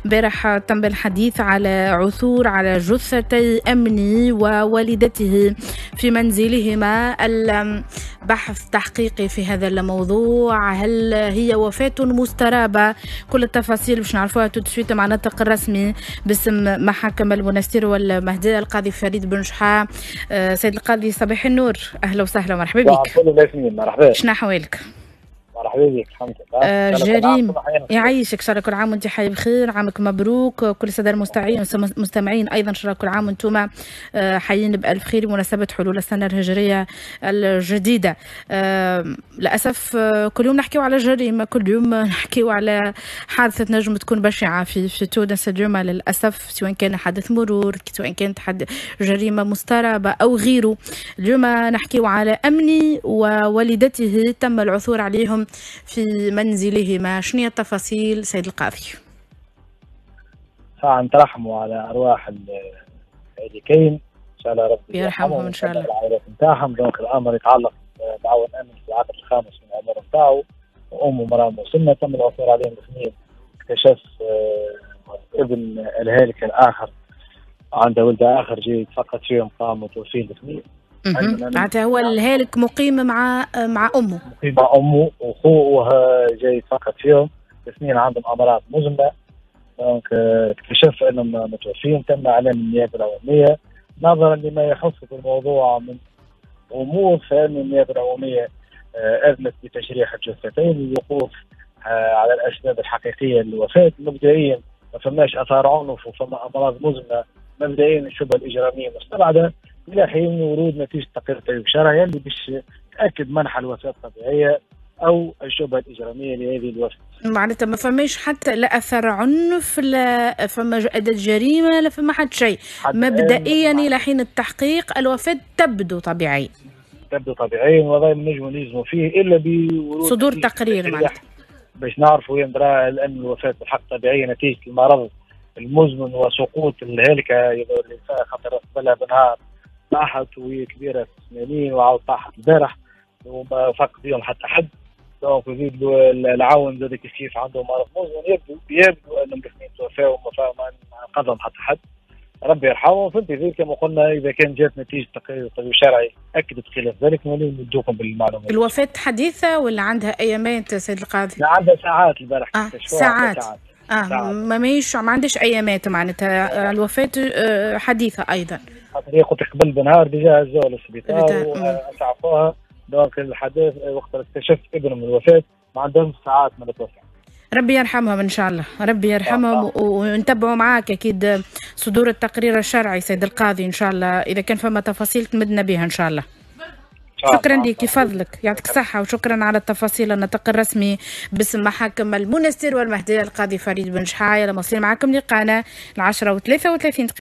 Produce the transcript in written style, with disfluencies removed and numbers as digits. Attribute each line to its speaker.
Speaker 1: امبارح تم الحديث على عثور على جثتي أمني ووالدته في منزلهما. البحث تحقيقي في هذا الموضوع، هل هي وفاة مسترابة؟ كل التفاصيل باش نعرفوها tout de suite مع الناطق الرسمي باسم محاكم المنستير والمهدية القاضي فريد بن شحا. سيد القاضي، صباح النور، أهلا وسهلا ومرحبا بك.
Speaker 2: مرحبا،
Speaker 1: شنو أحوالك؟
Speaker 2: مرحبا بك، الحمد لله.
Speaker 1: جريم يعيشك، شاء كل عام وانت حي بخير، عامك مبروك. كل السادة المستمعين ايضا شاء كل عام وانتم حيين بالف خير بمناسبة حلول السنة الهجرية الجديده. للاسف كل يوم نحكيو على جريمه، كل يوم نحكيو على حادثه نجم تكون بشعة في تونس. اليوم للاسف سواء كان حادث مرور، سواء كانت جريمة مسترابه او غيره، اليوم نحكيو على امني ووالدته تم العثور عليهم في منزلهما. شنو هي التفاصيل سيد القاضي؟
Speaker 2: نترحموا على ارواح الهالكين، ان شاء الله ربي
Speaker 1: يرحمهم ان شاء الله،
Speaker 2: العائلات نتاعهم. donc الامر يتعلق بعون امن في العقد الخامس من العمر نتاعو وامه مرام مسنه، تم العثور عليهم الاثنين. اكتشف ابن الهالك الاخر عنده ولد اخر جاي يتفقد فيهم، قام متوفين الاثنين.
Speaker 1: معناتها هو الهالك مقيم مع امه،
Speaker 2: مقيم مع امه وخوه جاي يتفقد فيهم، الاثنين عندهم امراض مزمنه. donc اكتشف انهم متوفين، تم اعلان النيابة العمومية نظرا لما يخص بالموضوع من امور، فان النيابة العمومية اذنت بتشريح الجثتين للوقوف على الاسباب الحقيقية للوفاه. مبدئيا ما فماش اثار عنف وفما امراض مزمنه، مبدئيا الشبهة الاجرامية مستبعده الى حين ورود نتيجة تقرير طبيب شرعي اللي باش تاكد منح الوفاة الطبيعية او الشبهة الاجرامية لهذه الوفاة.
Speaker 1: معناتها ما فماش حتى لا اثر عنف، لا فما اداه جريمه، لا فما حتى شيء. مبدئيا الى حين التحقيق الوفاة تبدو طبيعية.
Speaker 2: تبدو طبيعيا، وهذا ما نجموا نجزموا فيه الا بورود
Speaker 1: صدور تقرير معناتها
Speaker 2: باش نعرفوا يندرى ان الوفاة بالحق طبيعية نتيجة المرض المزمن وسقوط الهالكه اللي خاطر قبلها بنهار طاحت وهي كبيرة في 80 وعاود طاحت البارح وما فاق بهم حتى حد. donc يزيد العون زاد كيف عنده مرض مزمن، يبدو انهم الاثنين توفاوا وما انقذهم حتى حد، ربي يرحمهم. فهمتي زي كما قلنا اذا كان جات نتيجة تقرير الطبيب الشرعي اكدت خلاف ذلك نوليو ندوكم بالمعلومات.
Speaker 1: الوفاة حديثه ولا عندها ايامات سيد القاضي؟
Speaker 2: لا، عندها ساعات البارح.
Speaker 1: ساعات. ساعات. ما عندهاش ايامات، معناتها الوفاة حديثه ايضا.
Speaker 2: خاطر هي قلت قبل بنهار déjà هزوها للسبيطار واسعفوها. donc الحدث وقت اكتشف ابنهم الوفاة ما عندهم ساعات من التوفاه.
Speaker 1: ربي يرحمهم ان شاء الله، ربي يرحمهم. ونتبعوا معاك اكيد صدور التقرير الشرعي سيد القاضي ان شاء الله، اذا كان فما تفاصيل تمدنا بها ان شاء الله. شكرا لك، فضلك يعطيك الصحة، وشكرا على التفاصيل. الناطق الرسمي باسم محاكم المنستير والمهدية القاضي فريد بن شحاية. مواصلين معكم لقانا 10:33.